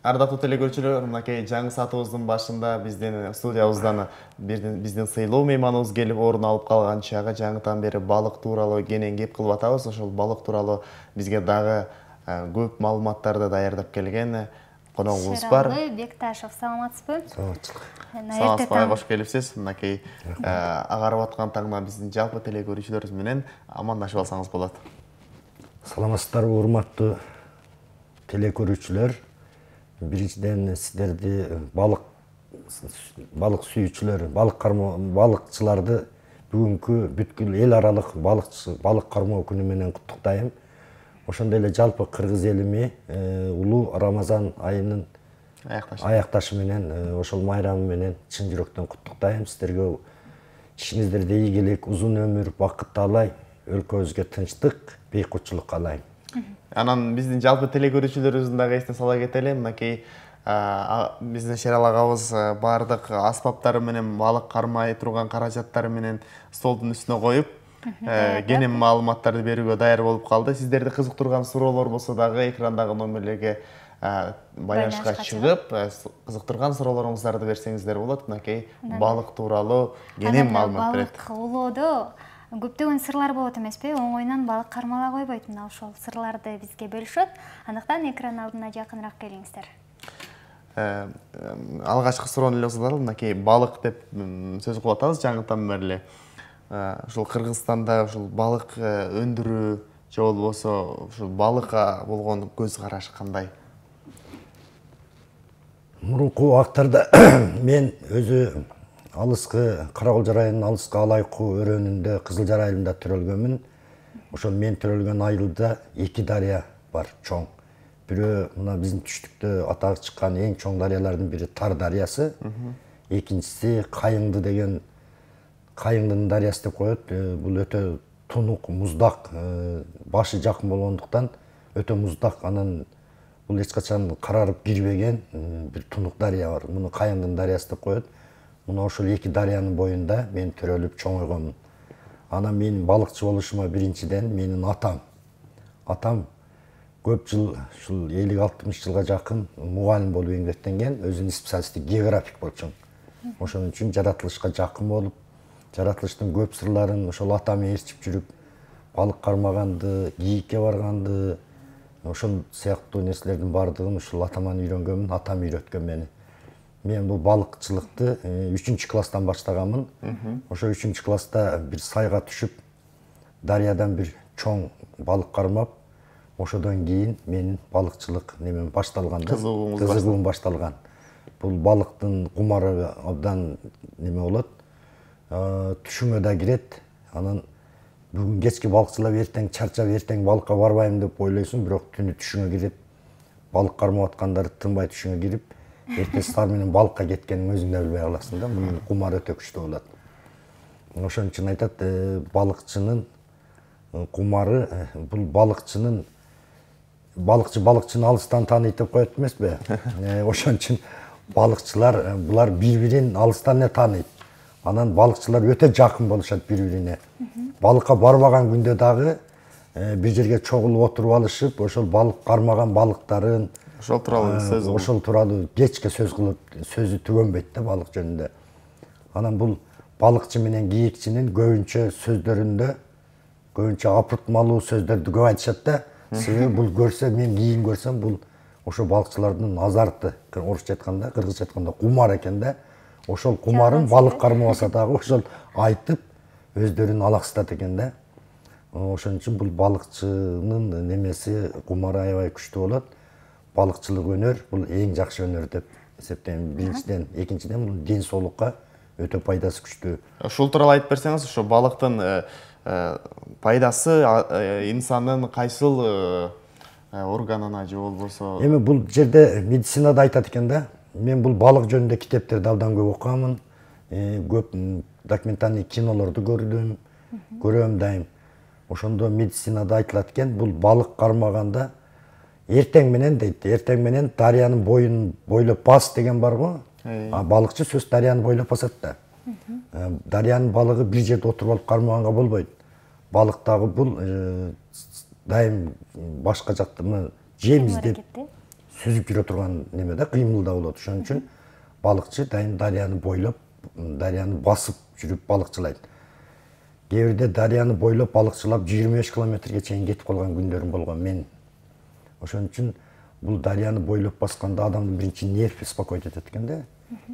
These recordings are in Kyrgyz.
Ардактуу телекөрүүчүлөр, мынакей жаңы саатыбыздын башында биздин студиябыздан биздин сыйлуу мейманыбыз келип орун алып калган чагы жаңыдан бери балык тууралуу кенен кеп кылып атабыз. Ошол балык тууралуу бизге дагы көп маалыматтарды даярдап келген коногубуз бар. Шералы Бекташев, саламатсызбы? Саламатсызбы, кош келипсиз. Мынакей агарып аткан таңда биздин жалпы телекөрүүчүлөрүбүз менен амандашып алсаңыз болот. Саламатсыздарбы, урматтуу телекөрүүчүлөр. Биринчиден сиздерди балык сүйүүчүлөр, балыкчыларды бүгүнкү бүткүл эл аралык балык кармоо күнү менен куттуктайм. Ошондой эле жалпы кыргыз элими улуу Рамазан айынын аякташы менен, ошол майрамы менен чын жүрөктөн куттуктайм. Сиздерге ишиңиздерде ийгилик, узун өмүр, бакыт таалай, өлкөбүзгө тынчтык, бейкутчулук каалайм. Анан биздин жалпы телекөрүүчүлөрүбүздүн дагы эсине сала кетели. Мынакей биздин Шералы агабыз баардык аспаптары менен, балык кармай турган каражаттары менен столдун үстүнө коюп, кенен маалыматтарды берүүгө даяр болуп калды. Сиздерди кызыктырган суроолор болсо дагы экрандагы номерлерге байланышка чыгып, кызыктырган суроолоруңуздарды берсеңиздер болот. Мынакей балык тууралуу кенен маалымат берет. Балык улоодо көптөгөн сырлар болот эмеспи? Оңойнон балык кармала койбойт. Мына ошол сырларды бизге бөлүшөт. Андыктан экран алдына жакыныраак келиңиздер. Алгачкы суроону эле узаталы. Мынакей балык деп сөз кылып атабыз жаңыдан бери. Ушул Кыргызстанда ушул балык өндүрүү же болбосо ушул балыкка болгон көз караш кандай? Мурунку убактарда мен өзү алыскы Караколжор айылынын алыскы Алайкуу өрөөнүндө Кызылжар айылында төрөлгөнмүн. Ошол мен төрөлгөн айылда эки дарыя бар, чоң. Бирөө мына биздин түштүктө атагы чыккан эң чоң дарыялардын бири Тар дарыясы, экинчиси Кайыңды деген Кайыңдын дарыясы деп коет. Бул өтө тунук, муздак, башы жакын болгондуктан өтө муздак, анан бул эч качан карарып кирбеген бир тунук дарыя бар. Муну Кайыңдын дарыясы деп коет. Мына ошол эки дарыянын боюнда мен төрөлүп чоңойгонмун. Анан менин балыкчы болушума биринчиден менин атам көп жыл, ушул 50-60 жылга жакын мугалим болуп эмгектенген, өзүнүн специалисти географик болчу. Ошон үчүн жаратылышка жакын болуп, жаратылыштын көп сырларын ошол атам ээрчип жүрүп, балык кармаганды, кийикке барганды, ошол сыяктуу нерселердин баардыгын ушул атаман үйрөнгөнмүн, атам үйрөткөн мени. Мен бул балыкчылыкты 3-класстан баштаганмын. Ошо 3-класста бир сайга түшүп, дарыядан бир чоң балык кармап, ошодон кийин менин балыкчылык немем башталган, кызыгуум башталган. Бул балыктын кумары абдан неме болот, түшүңө да кирет. Анан бүгүн кечки балыкчылап, эртең чарчап, эртең балыкка барбайм деп ойлойсуң, бирок түнү түшүңө кирип, балык кармап аткандар тынбай түшүңө кирип, эртеси саар менен балыкка кеткениң өзүң да билбей каласың да. Мунун кумары өтө күчтүү болот. Ошон үчүн айтат, балыкчынын кумары, бул балыкчыны алыстан тааныйт деп коет эмеспи? Ошон үчүн балыкчылар булар бири-бирин алыстан эле тааныйт. Анан балыкчылар өтө жакын болушат бири-бирине. Балыкка барбаган күндө дагы бир жерге чогулуп отуруп алышып, ошол балык кармаган балыктарын ошол тууралуу кечке сөз кылып, сөзү түгөнбөйт да балык жөнүндө. Анан бул балыкчы менен кийикчинин көбүнчө сөздөрүндө көбүнчө апыртмалуу сөздөрдү көп айтышат да. Себеби бул көрсө, мен кийин көрсөм, бул ошо балыкчылардын азарты, орусча айтканда, кыргызча айтканда кумар экен да. Ошол кумарын балык кармабаса дагы ошол айтып өздөрүн алаксытат экен да. Ошон үчүн бул балыкчынын немеси, кумары аябай күчтүү болот. Балыкчылык өнөр бул эң жакшы өнөр деп эсептейм. Биринчиден, экинчиден бул ден соолукка өтө пайдасы күчтүү. Ушул тууралуу айтып берсеңиз, ошо балыктын пайдасы инсандын кайсыл органына же болбосо? Эми бул жерде медицинада айтат экен да. Мен бул балык жөнүндө китептерди абдан көп окугамын. Көп документальный кинолорду көрдүм, көрөм дайым. Ошондо медицинада айтылат экен, бул балык кармаганда эртең менен дейт, эртең менен дарыянын боюн бойлоп бас деген бар го. Балыкчы сөз дарыяны бойлоп басат да. Дарыянын балыгы бир жерде отуруп алып кармаганга болбойт. Балыктагы бул дайым башка жакта жем издеп сүзүп жүрө турган неме да, кыймыл да болот. Ошон үчүн балыкчы дайым дарыяны бойлоп, дарыяны басып жүрүп балыкчылайт. Кээ бирде дарыяны бойлоп балыкчылап 25 километрге чейин кетип калган күндөрүм болгон мен. Ошон үчүн бул дарыяны бойлоп басканда адамдын биринчи нерв беспокоить этет экен да.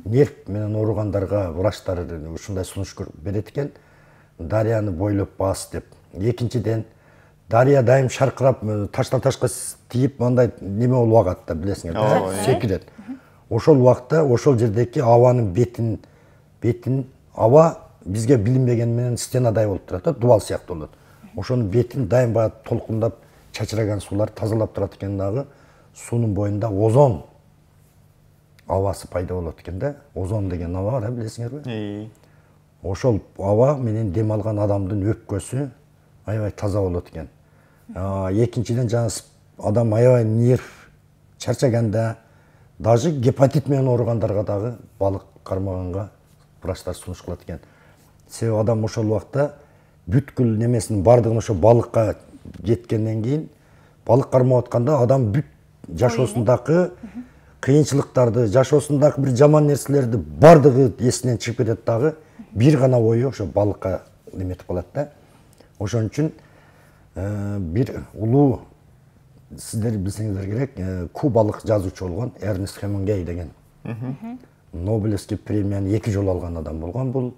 Нерв менен ооругандарга врачтар ушундай сунуш берет экен. Дарыяны бойлоп бас деп. Экинчиден, дарыя дайым шаркырап, таштан ташка тийип, мындай неме болуп агат да, билесиңер да, секирет. Ошол убакта, ошол жердеки абанын бетин аба бизге билинбеген менен стенадай болуп турат да, дубал сыяктуу болот. Ошонун бетин дайым баягы толкундап чачыраган суулар тазалап турат экен дагы. Суунун боюнда озон абасы пайда болот экен да. Озон деген аба бар, билесиңерби? Ошол аба менен дем алган адамдын өпкөсү аябай таза болот экен. Экинчиден, жана адам аябай нерв чарчаганда, даже гепатит менен ооругандарга дагы балык кармаганга врачтар сунуш кылат экен. Себеби адам ошол убакта бүткүл немесинин бардыгын ошо балыкка жеткенден кийин, балык кармап атканда адам бүт жашоосундагы кыйынчылыктарды, жашоосундагы бир жаман нерселерди бардыгы эсинен чыгып кетет дагы, бир гана ою ошо балыкка неметип калат да. Ошон үчүн бир улуу, сиздер билсеңиздер керек, кубалык жазуучу болгон Эрнест Хемингей деген. Нобелевский премияны 2 жолу алган адам болгон бул.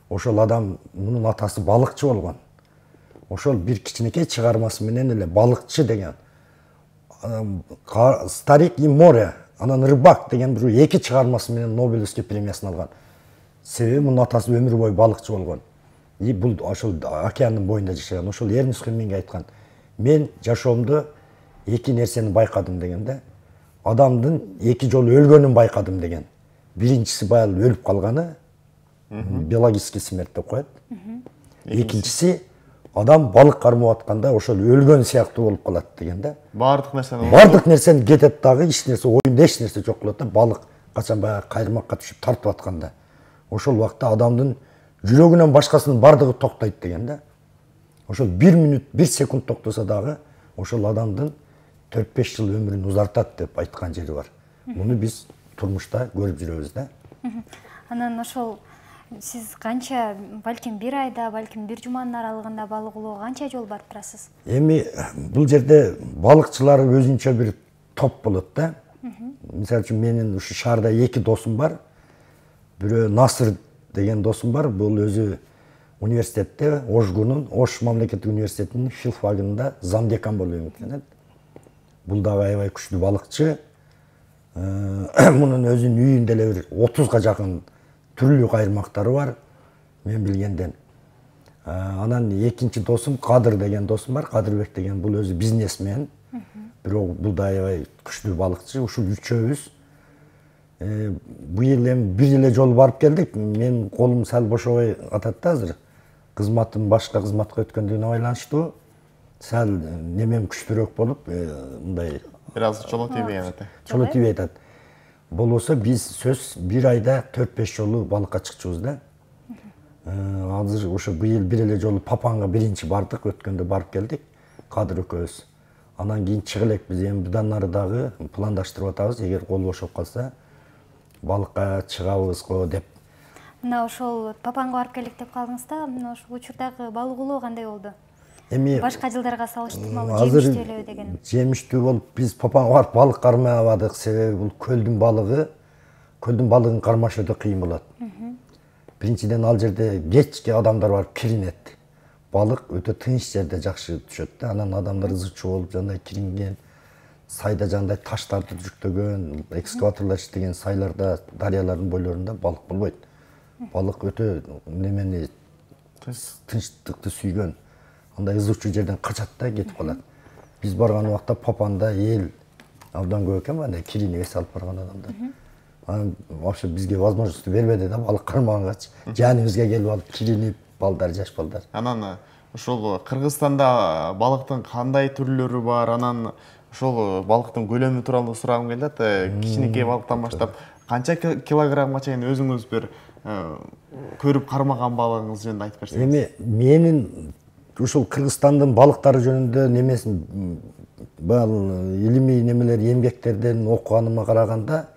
Ошол адам, мунун атасы балыкчы болгон. Ошол бир кичинекей чыгармасы менен эле балыкчы деген, Старик и море, анан рыбак деген бир 2 чыгармасы менен Нобелевский премиясын алган. Себеби мунун атасы өмүр бою балыкчы болгон. И бул ошол океандын боюнда жашаган. Ошол Эрнест Хемингей айткан: "Мен жашоомдо 2 нерсени байкадым" деген да. Адамдын 2 жолу өлгөнүн байкадым деген. Биринчиси баягы өлүп калганы, биологический смерть деп коет. Экинчиси адам балык кармап атканда ошол өлгөн сыяктуу болуп калат деген да. Бардык нерсени кетет дагы, эч нерсе, оюнда эч нерсе жок болот да. Балык качан баягы кайрмакка түшүп тартып атканда, ошол убакта адамдын жүрөгүнөн башкасынын бардыгы токтойт деген да. Ошол 1 минут, 1 секунд токтосо дагы ошол адамдын 4-5 жыл өмүрүн узартат деп айткан жери бар. Муну биз турмушта көрүп жүрөбүз да. Анан ошол сиз канча, балким 1 айда, балким 1 жуманын аралыгында балык улоого канча жолу барып турасыз? Эми бул жерде балыкчылар өзүнчө бир топ болот да. Мисалы үчүн менин ушу шаарда 2 досум бар. Бирөө Насыр деген досум бар. Бул өзү университетте, Ошгунун, Ош мамлекеттик университетинин филфагында замдекан болуп эмгектенет. Бул дагы аябай күчтүү балыкчы. Мунун өзүнүн үйүндө эле бир 30га жакын түрлүү кайрмактары бар, мен билгенден. Анан экинчи досум Кадыр деген досум бар, Кадырбек деген, бул өзү бизнесмен. Бирок бул да аябай күчтүү балыкчы. Ушул үчөөбүз быйыл эми 1 эле жолу барып келдик. Мен колум сал бошобой атат да азыр. Кызматым башка кызматка өткөндүгүнө байланыштуу. Сал немем күчтүүрөөк болуп, мындай бир аз чоло тийбей атат. Чоло тийбей атат. Болбосо биз сөз 1 айда 4-5 жолу балыкка чыкчубуз да. Азыр ошо быйыл 1 эле жолу Папанга биринчи бардык, өткөндө барып келдик. Кадыр экөөбүз. Анан кийин чыга элекпиз. Эми будан нары дагы пландаштырып атабыз, эгер кол бошоп калса балыкка чыгабыз го деп. Мына ошол Папанга барып келдик деп калдыңыз да, мына ошол учурдагы балык улоо кандай болду? Эми башка жылдарга салыштырмалуу жемиштүү эле деген. Жемиштүү болуп биз Папанга барып балык кармай албадык, себеби бул көлдүн балыгын кармаш өтө кыйын болот. Биринчиден ал жерде кечке адамдар барып киринет. Балык өтө тынч жерде жакшы түшөт да, анан адамдар ызычуу болуп жандай киринген, сайда жандай таштарды жүктөгөн, экскаваторлор иштеген сайларда, дарыялардын бойлорунда балык болбойт. Балык өтө немени тынчтыкты сүйгөн. Андай ызычуу жерден качат да, кетип калат. Биз барган убакта Папанда эл абдан көп экен, андай киринип эс алып барган адамдар. Анан вообще бизге возможность бербеди да, балык кармагангачы. Жаныбызга келип алып киринип, балдар, жаш балдар. Анан ошол Кыргызстанда балыктын кандай түрлөрү бар? Анан ошол балыктын көлөмү тууралуу сурагым келет. Кичинекей балыктан баштап канча килограммга чейин өзүңүз бир көрүп кармаган балыгыңыз жөнүндө айтып берсеңиз. Эми менин ушул Кыргызстандын балыктары жөнүндө немесин илимий немелер эмгектерден окуганыма караганда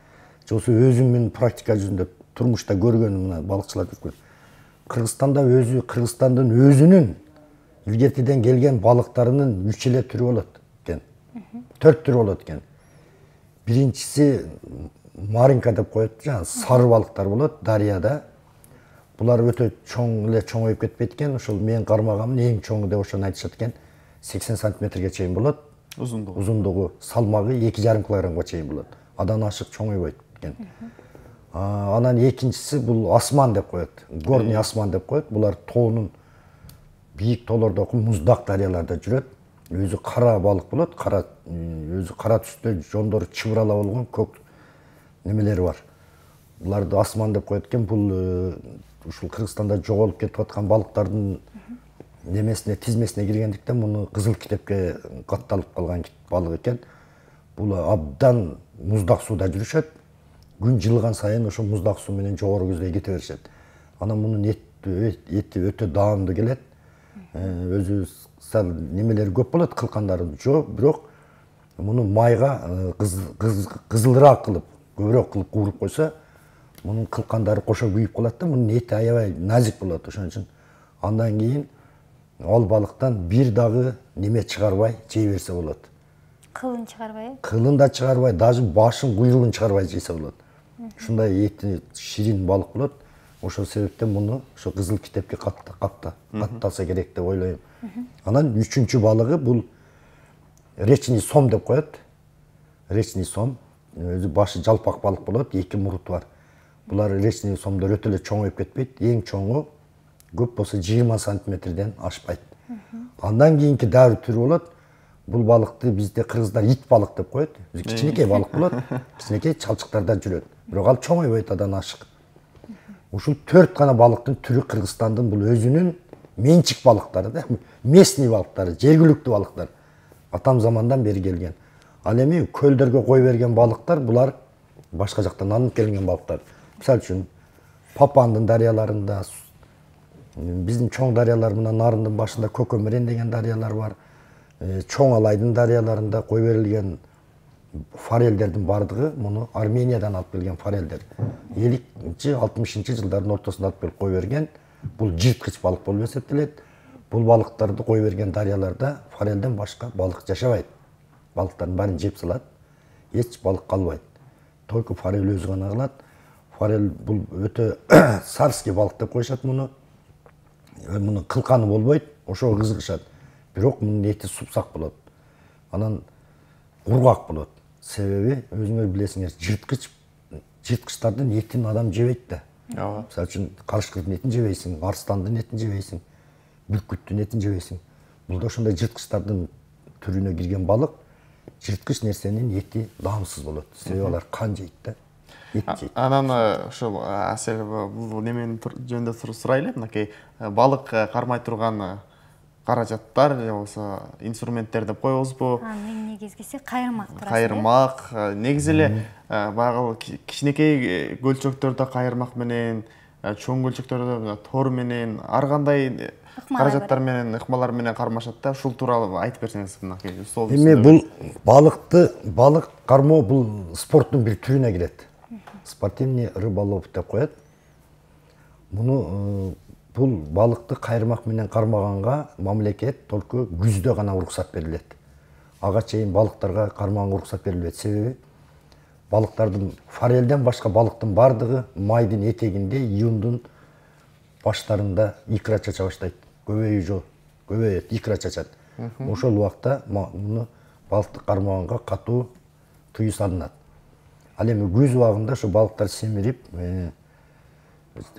же өзүмдүн практика жүзүндө турмушта көргөнүм мына балыкчылар жүргөн Кыргызстандын өзүнүн илгертиден келген балыктарынын 3 эле түрү болот экен. 4 түрү болот экен. Биринчиси маринка деп коет, жана сары балыктар болот дарыяда. Булар өтө чоңоюп кетпейт экен. Ошол мен кармаганмын эң чоңу деп ошону айтышат экен. 80 сантиметрге чейин болот. Узундугу, салмагы 2,5 килограммга чейин болот. Адан ашык чоңойбойт экен. Анан экинчиси бул асман деп коет. Горный асман деп коет. Булар тоонун бийик тоолордогу муздак дарыяларда жүрөт. Өзү кара балык болот. Өзү кара түстө, жондору чыбырала болгон көк немелери бар. Буларды асман деп коет экен. Бул ушул Кыргызстанда жоголуп кетип аткан балыктардын немесине, тизмесине киргендиктен муну кызыл китепке катталып калган балык экен. Бул абдан муздак сууда жүрүшөт. Күн жылыган сайын ошо муздак суу менен жогору көздөй кете беришет. Анан мунун эти өтө даамдуу келет. Өзү сал немелери көп болот, кылкандары жок, бирок муну майга кызылыраак кылып, көбүрөөк кылып кууруп койсо, мунун кылкандары кошо күйүп калат да, мунун эти аябай назик болот. Ошон үчүн андан кийин ал балыктан бир дагы неме чыгарбай жей берсе болот. Кылын чыгарбай? Кылын да чыгарбай, даже башын, куйругун чыгарбай жейсе болот. Ушундай эти ширин балык болот. Ошол себептен муну ошо кызыл китепке катталса керек деп ойлойм. Анан үчүнчү балыгы бул речный сом деп коет. Речный сом өзү башы жалпак балык болот, 2 муруту бар. Булар речный сомдор өтө эле чоңоюп кетпейт. Эң чоңу көп болсо 20 сантиметрден ашпайт. Андан кийинки дагы түрү болот. Бул балыкты бизде кыргыздар ит балык деп коет. Кичинекей балык болот. Кичинекей чалчыктарда жүрөт. Бирок ал чоңойбойт, адан ашык. Ушул 4 гана балыктын түрү Кыргызстандын бул өзүнүн менчик балыктары да, местный балыктары, жергиликтүү балыктар. Атам замандан бери келген. Ал эми көлдөргө кой берген балыктар булар башка жактан алынып келген балыктар. Мисалы үчүн Папандын дарыяларында, биздин чоң дарыялар мына Нарындын башында Көкөмөрен деген дарыялар бар. Чоң Алайдын дарыяларында кой берилген форелдердин бардыгы муну Армениядан алып келген форелдер. 50-60 жылдардын ортосунда алып келип кой берген. Бул жырткыч балык болуп эсептелет. Бул балыктарды кой берген дарыяларда форелден башка балык жашабайт. Балыктардын баарын жеп салат. Эч балык калбайт. Только форел өзү гана калат. Форел бул өтө царский балык деп коюшат муну. Мунун кылканы болбойт, ошого кызыгышат. Бирок мунун эти супсак болот. Анан кургак болот. Себеби өзүңөр билесиңер, жырткычтардын этин адам жебейт да. Мисалы үчүн карышкырдын этин жебейсиң, арстандын этин жебейсиң, бүркүттүн этин жебейсиң. Бул да ошондой жырткычтардын түрүнө кирген балык. Жырткыч нерсенин эти даамсыз болот. Себеби алар кан жейт да. Анан ошол Асель бул неменин жөнүндө сурайлы, мынакей балык кармай турган каражаттар же болбосо инструменттер деп коебузбу? Мен негизгиси кайырмак турат. Кайырмак, негизи эле баягы кичинекей көлчөктөрдө кайырмак менен, чоң көлчөктөрдө тор менен, ар кандай каражаттар менен, ыкмалар менен кармашат да. Ушул тууралуу айтып берсеңиз мынакей. Эми бул балык кармоо бул спорттун бир түрүнө кирет. Спортивный рыболов деп коет. Муну бул балыкты кайырмак менен кармаганга мамлекет только күздө гана уруксат берилет. Ага чейин балыктарга кармаганга уруксат берилбейт. Себеби балыктардын форелден башка балыктын бардыгы майдын этегинде, июндун баштарында икра чача баштайт. Көбөйөт, икра чачат. Ошол убакта муну балыкты кармаганга катуу тыюу салынат. Ал эми күз убагында ошо балыктар семирип,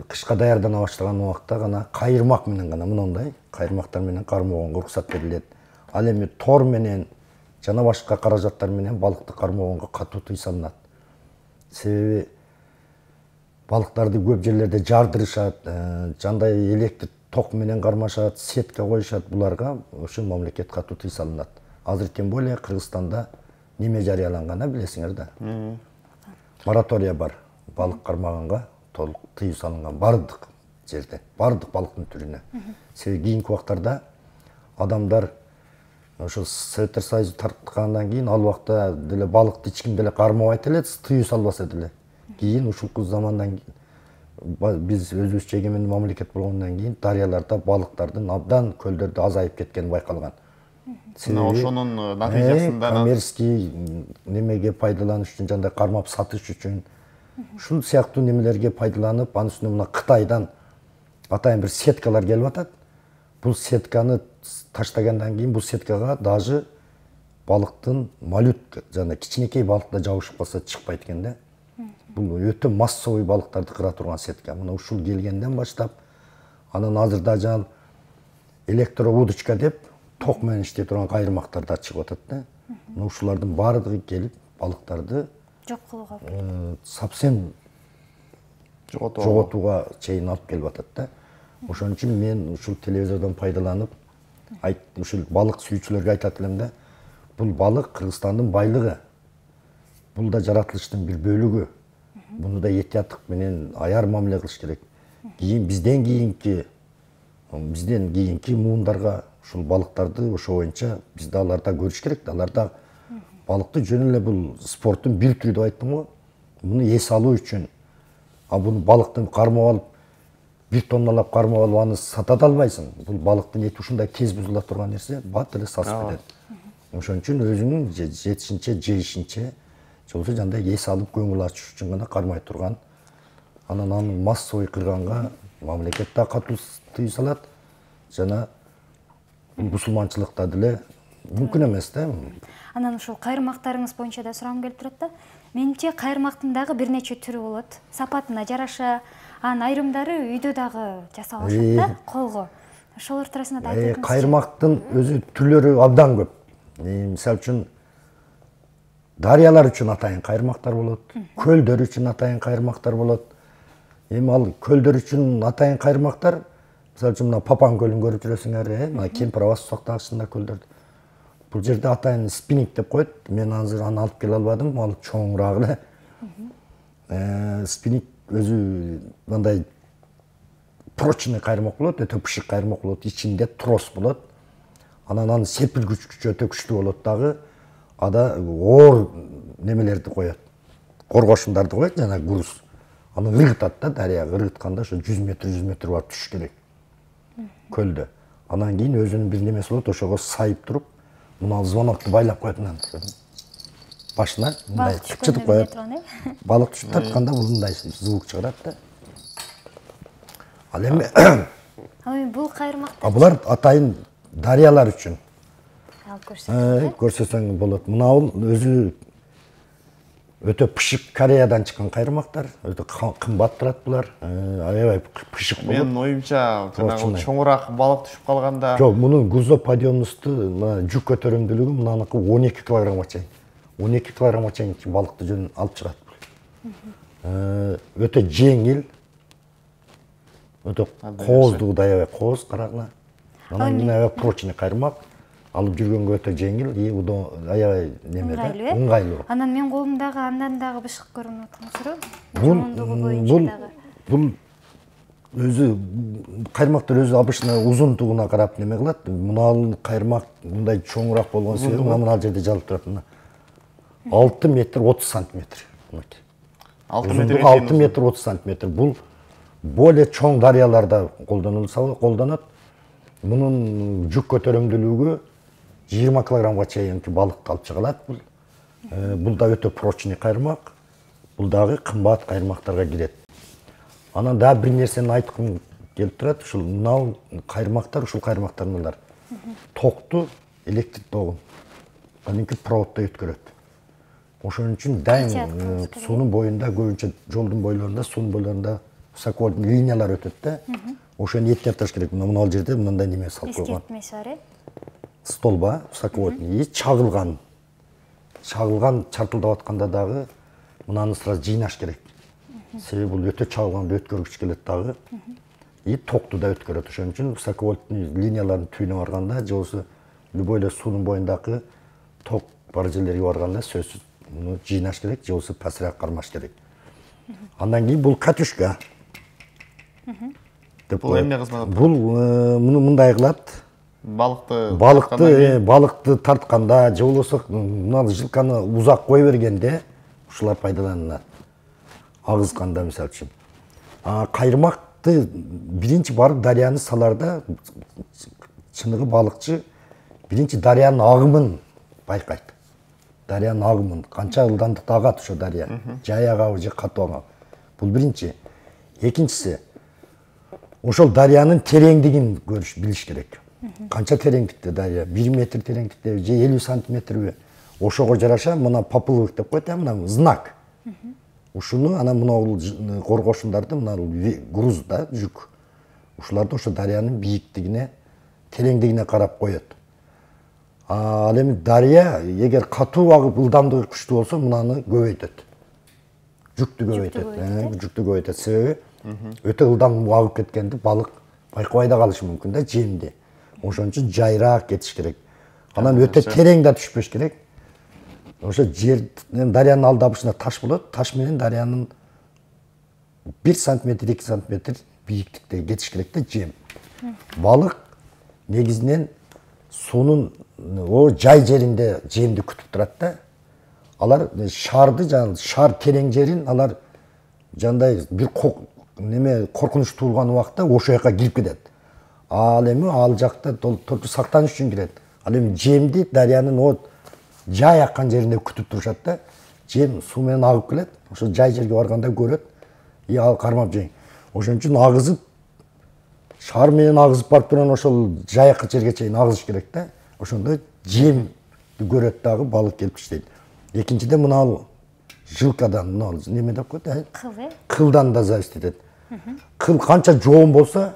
кышка даярдана баштаган убакта гана кайырмак менен гана мындай кайырмактар менен кармоого уруксат берилет. Ал эми тор менен жана башка каражаттар менен балыкты кармоого катуу тыюу салынат. Себеби балыктарды көп жерлерде жардырышат, жандай электр ток менен кармашат, сетка коюшат, буларга ошо мамлекет катуу тыюу салынат. Азыр тем более Кыргызстанда неме жарыяланган, билесиңер да. Моратория бар. Балык кармаганга толук тыюу салынган бардык жерде, бардык балыктын түрүнө. Себеби кийинки убактарда адамдар ошо Советтер Союзу тарткандан кийин ал убакта деле балыкты эч ким деле кармабайт эле, тыюу салбаса деле. Кийин ушул замандан биз өзүбүзчө эгемендүү мамлекет болгондон кийин дарыяларда балыктардын абдан, көлдөрдө азайып кеткени байкалган. Ошонун натыйжасында коммерческий немеге пайдаланыш үчүн, жандай кармап сатыш үчүн ушул сыяктуу немелерге пайдаланып, анын үстүнө мына Кытайдан атайын бир сеткалар келип атат. Бул сетканы таштагандан кийин бул сеткага даже балыктын моллюск, жана кичинекей балык да жабышып калса чыкпайт экен да. Бул өтө массовый балыктарды кыра турган сетка. Мына ушул келгенден баштап, анан азырда жана электроудочка деп ток менен иштей турган кайрмактар да чыгып атат да. Мына ушулардын баардыгы келип балыктарды жок кылууга, совсем жоготууга чейин алып келип атат да. Ошон үчүн мен ушул телевизордон пайдаланып, ушул балык сүйүүчүлөргө айтат элем да, бул балык Кыргызстандын байлыгы. Бул да жаратылыштын бир бөлүгү. Буну да этияттык менен аяр мамиле кылыш керек. Бизден кийинки муундарга ушул балыктарды ошо боюнча биз да аларда көрүш керек да. Аларда балыкты жөн эле бул спорттун бир түрү деп айттым го. Муну эс алуу үчүн, бул балыкты кармап алып, 1 тонналап кармап алып аны сата да албайсың. Бул балыктын эти ушундай тез бузула турган нерсе, бат эле сасып кетет. Ошон үчүн өзүнүн жетишинче, жейишинче, болбосо жандай эс алып көңүл ачыш үчүн гана кармай турган. Анан аны массовый кырганга мамлекет да катуу тыюу салат, жана мусулманчылыкта деле мүмкүн эмес да. Анан ушул кайрмактарыңыз боюнча да сурагым келип турат да. Менимче кайрмактын дагы бир нече түрү болот. Сапатына жараша, анын айрымдары үйдө дагы жасалышат да, колго. Ошолор туурасында да айтып өтүңүзчү. Кайрмактын өзү түрлөрү абдан көп. Мисалы үчүн дарыялар үчүн атайын кайрмактар болот, көлдөр үчүн атайын кайрмактар болот. Ал көлдөр үчүн атайын кайрмактар, мисалы үчүн мына Папан көлүн көрүп жүрөсүңөр, мына Кемпир Абас сактагычында көлдөр. Бул жерде атайын спиннинг деп коет. Мен азыр аны алып келе албадым, ал чоңураак эле. Спиннинг өзү мындай прочный кайрмак болот, өтө пышык кайрмак болот, ичинде трос болот. Анан анын серпилгүч күчү өтө күчтүү болот дагы. Ада оор немелерди коет. Коргошундарды коет, жана груз. Аны ыргытат да, дарыяга ыргытканда ошо 100 метр барып түшүш керек. Көлдө. Анан кийин өзүнүн бир немеси болот, ошого сайып туруп, мына звонокду байлап коет мына. Башына мындай чыпчытып коет. Балык түшүп тартканда бул мындай звук чыгарат да. Ал эми бул кайрмактар. Булар атайын дарыялар үчүн. Алып көрсөтсөң болот. Мына бул өзү өтө пышык Кореядан чыккан кайрмактар, өтө кымбат турат булар. Аябай пышык болот. Менин оюмча, жанагы чоңураак балык түшүп калганда. Жок, мунун грузоподъемносту, мына жүк көтөрүмдүүлүгү мынаныкы 12 килограммга чейин. 12 килограммга чейин балыкты жөн алып чыгат. Өтө жеңил. Өтө кооздугу да аябай кооз, карагыла. Анан мына прочный кайрмак. Алып жүргөнгө өтө жеңил, аябай неме да, ыңгайлуу. Анан мен колумдагы андан дагы бышык көрүнүп аткан жоондугу боюнча дагы. Бул өзү кайрмактар өзү обычно узундугуна карап неме кылат. Мына кайрмак мындай чоңураак болгон себеби мына жерде жазылып турат. 6 метр 30 сантиметр. 6 метр 30 сантиметр. Бул более чоң дарыяларда колдонот. Мунун жүк көтөрүмдүүлүгү 20 килограммга чейин балыкты алып чыга алат. Бул да өтө прочный кайрмак. Бул дагы кымбат кайрмактарга кирет. Анан дагы бир нерсени айткым келип турат. Ушул мына кайрмактар, ушул кайрмактардын токту электрик тогун кадимки проводдой өткөрөт. Ошон үчүн дайым суунун боюнда, көбүнчө жолдун бойлорунда, суунун бойлорунда высоковольтный линиялар өтөт да. Ошону эттеп керек. Мына жерде мындай неме салып койгон. Эскертмеси бар, Столба высоковольтный чагылган. Чагылган чартылдап атканда дагы мынаны сразу жыйнаш керек. Себеби бул өтө чагылганды өткөргүч келет дагы. Токту да өткөрөт. Ошон үчүн высоковольтный линиялардын түбүнө барганда, же болбосо любой эле суунун боюндагы ток бар жерлерге барганда сөзсүз муну жыйнаш керек, же болбосо пасыраак кармаш керек. Андан кийин бул катюшка. Бул эмне кызмат? Бул муну мындай кылат. балыкты тартканда же болбосо мына жылканы узак кое бергенде ушулар пайдаланылат. Агызганда мисалы үчүн. Кайырмакты биринчи барып дарыяны саларда чыныгы балыкчы биринчи дарыянын агымын байкайт. Дарыянын агымын канча ылдамдыкта агат ошо дарыя. Жай агабы же катуу агабы. Бул биринчи. Экинчиси ошол дарыянын тереңдигин билиш керек. Канча тереңдикте дарыя? 1 метр тереңдикте же 50 сантиметрби? Ошого жараша мына поплывок деп коет, мына знак. Ушуну ана мына коргошундарды мына груз да, жүк. Ушуларды ошо дарыянын бийиктигине, тереңдигине карап коет. Ал эми дарыя эгер катуу агып ылдамдыгы күчтүү болсо, мынаны көбөйтөт. Жүктү көбөйтөт. Жүктү көбөйтөт. Себеби өтө ылдам агып кеткенде балык байкабай да калышы мүмкүн да жемди. Ошон үчүн жайраак кетиш керек. Анан өтө терең да түшпөш керек. Ошо дарыянын алдабышына таш болот. Таш менен дарыянын 1 сантиметр, 2 сантиметр бийиктикте кетиш керек да жем. Балык негизинен суунун жай жеринде жемди күтүп турат да. Алар шарды, шар терең жерин алар жандай бир коркунуч туулган убакта ошо жака кирип кетет. Ал эми ал жакта толуктуу сактаныш үчүн кирет. Ал эми жемди дарыянын жай аккан жеринде күтүп турушат да. Жем суу менен агып келет. Ошо жай жерге барганда көрөт. Ал кармап жейин. Ошон үчүн агызып шар менен агызып барып турган ошол жайакы жерге чейин агызыш керек да. Ошондо жем көрөт дагы балык келип иштейт. Экинчиден мына жылкадан, мына неме деп коет, кылдан да зависит этет. Кыл канча жоон болсо,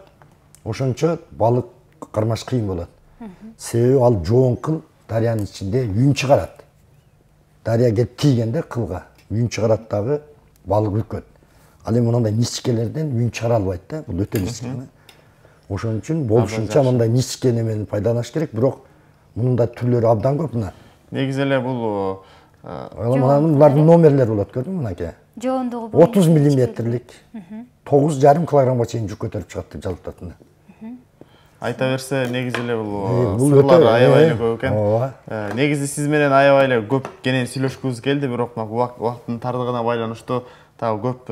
ошончо балык кармаш кыйын болот. Себеби ал жоон кыл дарыянын ичинде үн чыгарат. Дарыя келип тийгенде кылга үн чыгарат дагы балык үркөт. Ал эми мындай ничкелерден үн чыгара албайт да, бул өтө ничке. Ошон үчүн болушунча мындай ничке немени пайдаланыш керек, бирок мунун да түрлөрү абдан көп мына. Негизи эле бул булардын номерлери болот, көрдүңбү мынакей? Жоондугу 30 миллиметрлик 9,5 килограммга чейин жүк көтөрүп чыгат деп жалптат. Айта берсе, негизи эле бул сырлар аябай эле көп экен. Негизи сиз менен аябай эле көп кенен сүйлөшкүбүз келди, бирок убакыттын тардыгына байланыштуу дагы көп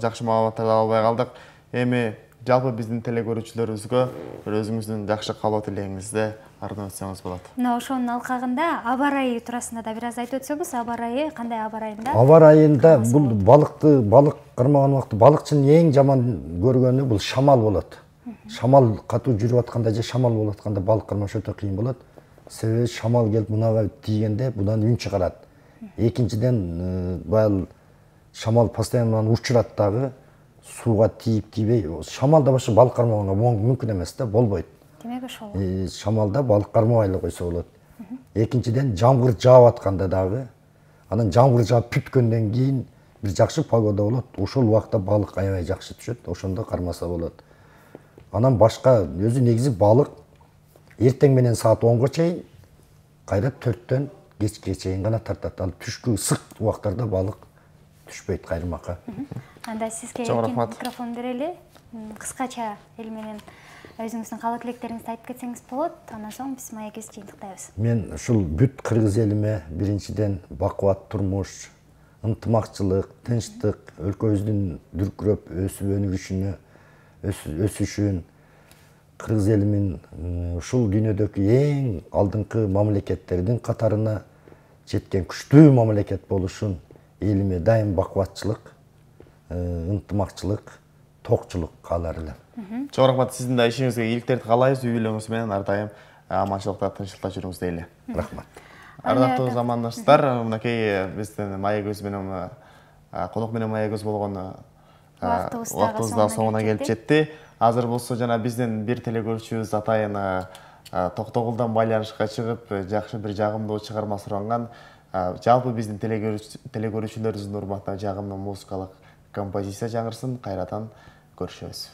жакшы маалыматтарды ала албай калдык. Эми жалпы биздин телекөрүүчүлөрүбүзгө өзүңүздүн жакшы каалоо тилегиңизди ардын өтсөңүз болот. Мына ошонун алкагында аба ырайы туурасында да бир аз айтып өтсөңүз, аба ырайы кандай аба ырайында? Аба ырайында бул балык кармаган убакта балыкчынын эң жаман көргөнү бул шамал болот. Шамал катуу жүрүп атканда же шамал болуп атканда балык кармаш өтө кыйын болот. Себеби шамал келип мынага тийгенде мындан үн чыгарат. Экинчиден баягы шамал постоянно учурат дагы. Сууга тийип-тийбей, шамалда башка балык кармаганга мүмкүн эмес да, болбойт. Демек ошол. Шамалда балык кармабай эле койсо болот. Экинчиден жамгыр жаап атканда дагы, анан жамгыр жаап бүткөндөн кийин бир жакшы погода болот. Ошол убакта балык аябай жакшы түшөт, ошондо кармаса болот. Анан башка өзү негизи балык эртең менен саат 10го чейин, кайра 4төн кечке чейин гана тартат. Ал түшкү ысык убактарда балык түшпөйт кайрымакка. Анда сизге микрофон берели. Кыскача эл менен өзүңүздүн каалоо тилектериңизди айтып кетсеңиз болот. Андан соң биз маегибизди жыйынтыктайбыз. Мен ушул бүт кыргыз элиме биринчиден бакубат турмуш, ынтымакчылык, тынчтык, өлкөбүздүн дүркүрөп өсүп өсүшүн, кыргыз элимин ушул дүйнөдөгү эң алдыңкы мамлекеттердин катарына жеткен күчтүү мамлекет болушун элиме дайым бакубатчылык, ынтымакчылык, токчулук каалар элем. Чоң рахмат, сиздин да ишиңизге ийгиликтерди каалайбыз. Үй бүлөңүз менен ар дайым аманчылыкта, тынччылыкта жүрүңүз дейли. Рахмат. Ардактуу замандаштар, мынакей биздин маегибиз менен конок менен маегибиз болгон убактыбыз да соңуна келип жетти. Азыр болсо жана биздин бир телекөрүүчүбүз атайын Токтогулдан байланышка чыгып, жакшы бир жагымдуу чыгарма суранган. Жалпы биздин телекөрүүчүлөрүбүздүн урматына жагымдуу музыкалык композиция жаңырсын. Кайрадан көрүшөбүз.